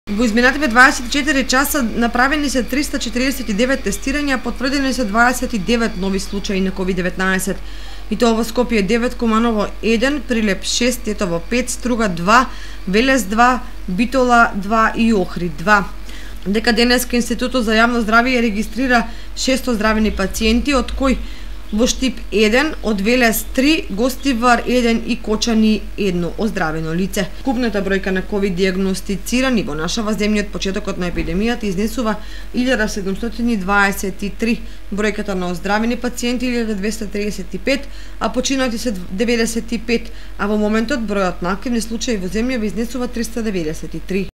Во изминативе 24 часа направени се 349 тестирања, потврдени се 29 нови случаи на COVID-19. И тоа во Скопје 9, Куманово 1, Прилеп 6, Тетово 5, Струга 2, Велес 2, Битола 2 и Охрид 2. Дека денеска Институтот за јавно здравје регистрира 600 здравени пациенти, од кои во Штип 1, од Велес 3, Гостивар 1 и Кочани 1 оздравено лице. Купната бројка на ковид диагностицирани во нашава земја од почетокот на епидемијата изнесува 1723, бројката на оздравени пациенти 1235, а починати се 95, а во моментот бројот на активни случаи во земјава изнесува 393.